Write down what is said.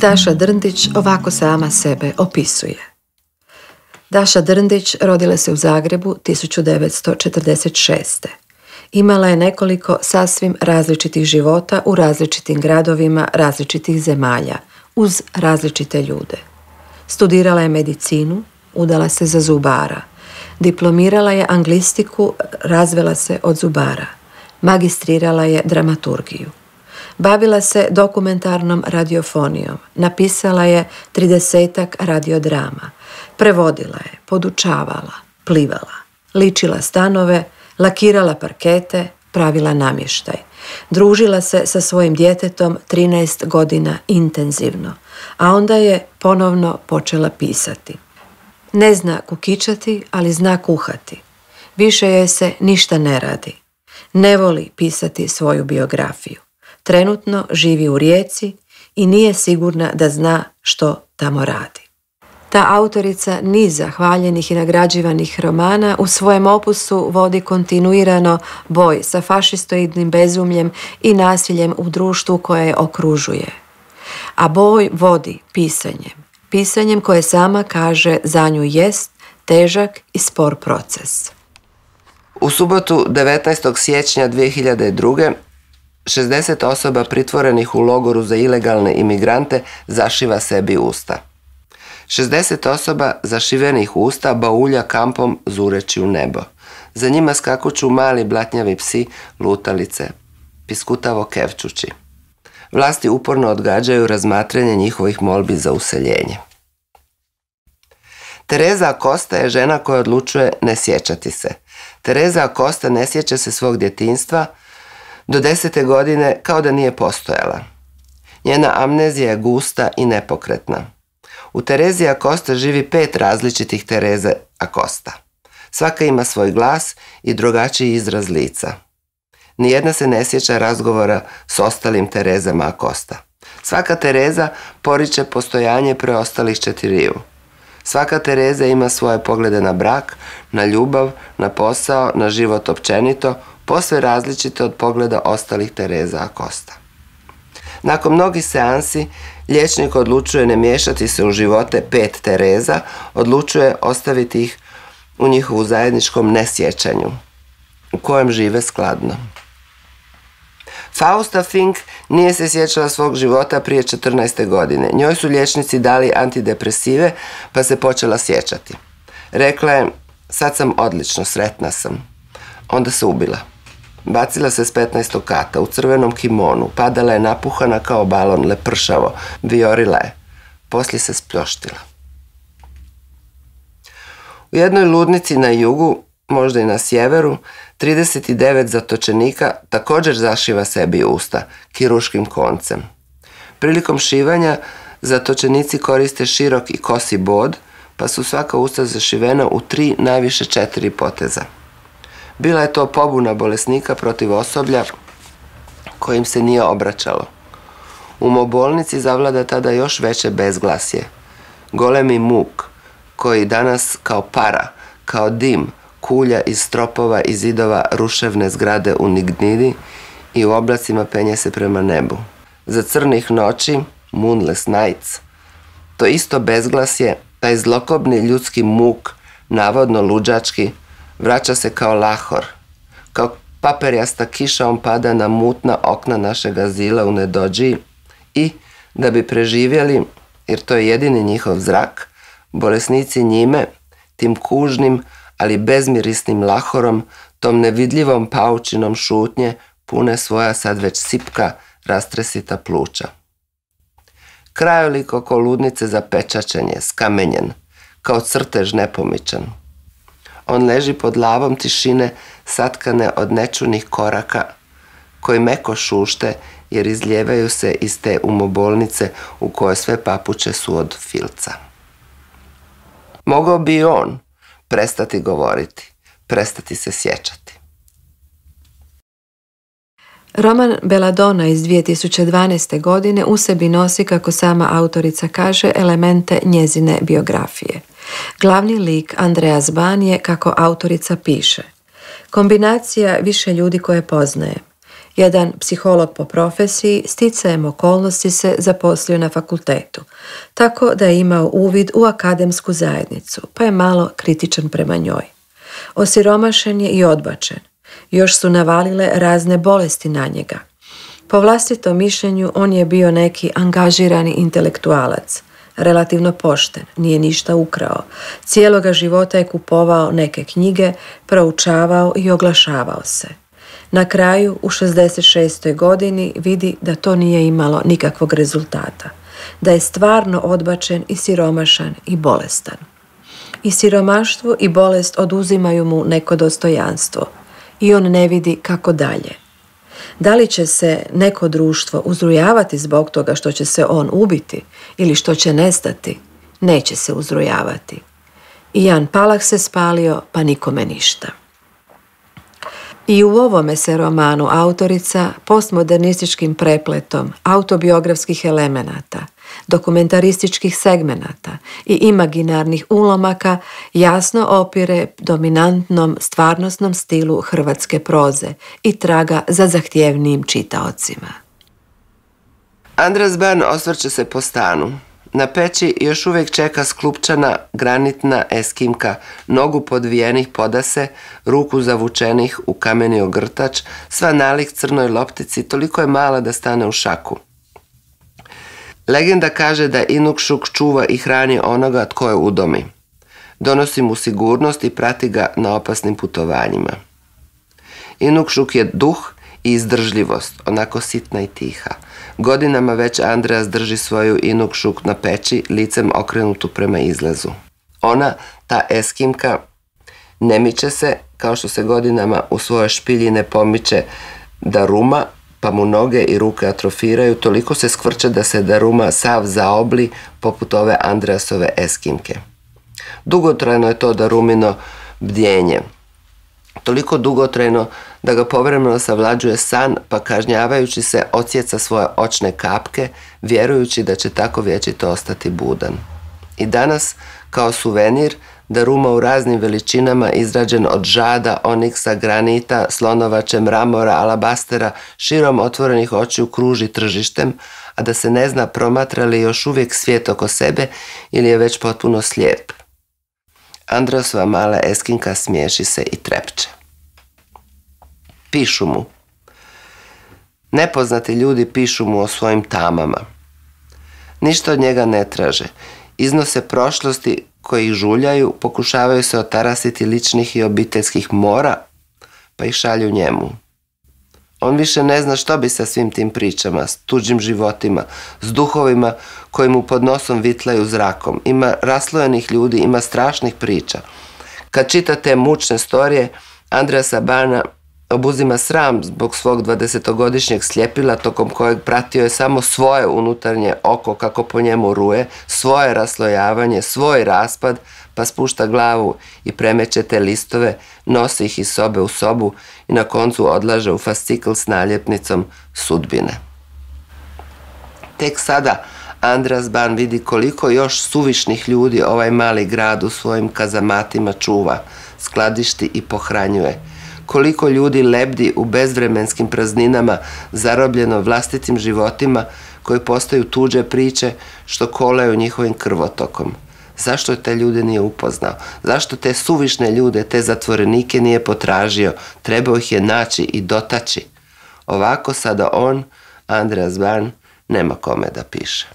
Daša Drndić ovako sama sebe opisuje. Daša Drndić rodila se u Zagrebu 1946. Imala je nekoliko sasvim različitih života u različitim gradovima različitih zemalja, uz različite ljude. Studirala je medicinu, udala se za zubara. Diplomirala je anglistiku, razvela se od zubara. Magistrirala je dramaturgiju. Bavila se dokumentarnom radiofonijom. Napisala je 30-ak radiodrama. Prevodila je, podučavala, plivala, ličila stanove, lakirala parkete, pravila namještaj. Družila se sa svojim djetetom 13 godina intenzivno, a onda je ponovno počela pisati. Ne zna kukičati, ali zna kuhati. Više joj se ništa ne radi. Ne voli pisati svoju biografiju. Trenutno živi u Rijeci i nije sigurna da zna što tamo radi. Ta autorica niza hvaljenih i nagrađivanih romana u svojem opusu vodi kontinuirano boj sa fašistoidnim bezumljem i nasiljem u društvu koje je okružuje. A boj vodi pisanjem koje sama kaže za nju jest težak i spor proces. U subotu 19. siječnja 2002. 60 osoba pritvorenih u logoru za ilegalne imigrante zašiva sebi usta. 60 osoba zašivenih usta baulja kampom zureći u nebo. Za njima skakuću mali blatnjavi psi, lutalice, piskutavo kevčući. Vlasti uporno odgađaju razmatranje njihovih molbi za useljenje. Tereza Acosta je žena koja odlučuje ne sjećati se. Tereza Acosta ne sjeća se svog djetinjstva do 10. godine kao da nije postojala. Njena amnezija je gusta i nepokretna. U Terezi Acosta živi 5 različitih Tereze Acosta. Svaka ima svoj glas i drugačiji izraz lica. Nijedna se ne sjeća razgovora s ostalim Terezama Acosta. Svaka Tereza poriče postojanje preostalih 4. Svaka Tereza ima svoje poglede na brak, na ljubav, na posao, na život općenito, posve različite od pogleda ostalih Tereza Acosta. Nakon mnogih seansi, liječnik odlučuje ne miješati se u živote 5 Tereza, odlučuje ostaviti ih u njihovu zajedničkom nesjećanju, u kojem žive skladno. Fausta Fink nije se sjećala svog života prije 14. godine. Njoj su liječnici dali antidepresive, pa se počela sjećati. Rekla je, sad sam odlično, sretna sam. Onda se ubila. Bacila se s 15. kata u crvenom kimonu, padala je napuhana kao balon, lepršavo, vijorila je. Poslije se spljoštila. U jednoj ludnici na jugu, možda i na sjeveru, 39 zatočenika također zašiva sebi usta kirurškim koncem. Prilikom šivanja zatočenici koriste širok i kosi bod, pa su svaka usta zašivena u 3, najviše 4 poteza. Bila je to pobuna bolesnika protiv osoblja kojim se nije obraćalo. U umobolnici zavlada tada još veće bezglasje. Golemi muk, koji danas kao para, kao dim, kulja iz stropova i zidova ruševne zgrade u Nignidi i u oblacima penje se prema nebu. Za crnih noći, moonless nights, to isto bezglasje, taj zlokobni ljudski muk, navodno luđački, vraća se kao lahor. Kao paperjasta kiša on pada na mutna okna našeg azila u Nedođiji i, da bi preživjeli, jer to je jedini njihov zrak, bolesnici njime, tim kužnim, ali bezmirisnim lahorom, tom nevidljivom paučinom šutnje, pune svoja sad već sipka, rastresita pluća. Krajolik oko ludnice zapečačen je, skamenjen, kao crtež nepomičan. On leži pod lavom tišine, satkane od nečunih koraka, koji meko šušte jer izljevaju se iz te umobolnice u kojoj sve papuče su od filca. Mogao bi i on prestati govoriti, prestati se sjećati. Roman Belladonna iz 2012. godine u sebi nosi, kako sama autorica kaže, elemente njezine biografije. Glavni lik Andreas Ban je, kako autorica piše, kombinacija više ljudi koje poznajem. Jedan psiholog po profesiji sticajem okolnosti se zaposlio na fakultetu, tako da je imao uvid u akademsku zajednicu, pa je malo kritičan prema njoj. Osiromašen je i odbačen. Još su navalile razne bolesti na njega. Po vlastitom mišljenju on je bio neki angažirani intelektualac, relativno pošten, nije ništa ukrao. Cijeloga života je kupovao neke knjige, proučavao i oglašavao se. Na kraju, u 66. godini, vidi da to nije imalo nikakvog rezultata, da je stvarno odbačen i siromašan i bolestan. I siromaštvo i bolest oduzimaju mu neko dostojanstvo i on ne vidi kako dalje. Da li će se neko društvo uzrujavati zbog toga što će se on ubiti ili što će nestati? Neće se uzrujavati. I Jan Palach se spalio, pa nikome ništa. I u ovome se romanu autorica postmodernističkim prepletom autobiografskih elemenata, dokumentarističkih segmenata i imaginarnih ulomaka jasno opire dominantnom stvarnosnom stilu hrvatske proze i traga za zahtjevnijim čitaocima. Andras Ban osvrće se po stanu. Na peći još uvijek čeka sklupčana granitna eskimka, nogu podvijenih podase, ruku zavučenih u kameni ogrtač, sva nalik crnoj loptici, toliko je mala da stane u šaku. Legenda kaže da Inukšuk čuva i hrani onoga tko je udomi. Donosi mu sigurnost i prati ga na opasnim putovanjima. Inukšuk je duh i izdržljivost, onako sitna i tiha. Godinama već Andreas drži svoju Inukšuk na peći, licem okrenutu prema izlazu. Ona, ta eskimka, ne miče se, kao što se godinama u svoje špilji ne pomiče Daruma, pa mu noge i ruke atrofiraju, toliko se skvrče da se Daruma sav zaobli poput ove Andreasove eskimke. Dugotrajno je to Darumino bdjenje. Toliko dugotrajno da ga povremeno savlađuje san, pa kažnjavajući se odsjeca svoje očne kapke, vjerujući da će tako vječito ostati budan. I danas, kao suvenir, Daruma u raznim veličinama izrađen od žada, oniksa, granita, slonovače, mramora, alabastera, širom otvorenih očiju kruži tržištem, a da se ne zna promatra li još uvijek svijet oko sebe ili je već potpuno slijep. Andreasova mala eskinka smiješi se i trepče. Pišu mu. Nepoznati ljudi pišu mu o svojim tamama. Ništa od njega ne traže. Iznose prošlosti koji ih žuljaju, pokušavaju se otarasiti ličnih i obiteljskih mora, pa ih šalju njemu. On više ne zna što bi sa svim tim pričama, s tuđim životima, s duhovima koji mu pod nosom vitlaju zrakom. Ima raslojenih ljudi, ima strašnih priča. Kad čita te mučne storije, Andreasa Bana obuzima sram zbog svog 20-godišnjeg sljepila, tokom kojeg pratio je samo svoje unutarnje oko kako po njemu ruje, svoje raslojavanje, svoj raspad, pa spušta glavu i premeće te listove, nosi ih iz sobe u sobu i na koncu odlaže u fascikl s naljepnicom sudbine. Tek sada Andras Ban vidi koliko još suvišnih ljudi ovaj mali grad u svojim kazamatima čuva, skladišti i pohranjuje. Koliko ljudi lebdi u bezvremenskim prazninama, zarobljeno vlastitim životima koji postaju tuđe priče što kolaju njihovim krvotokom. Zašto te ljude nije upoznao? Zašto te suvišne ljude, te zatvorenike nije potražio? Trebao ih je naći i dotaći. Ovako sada on, Andras Ban, nema kome da piše.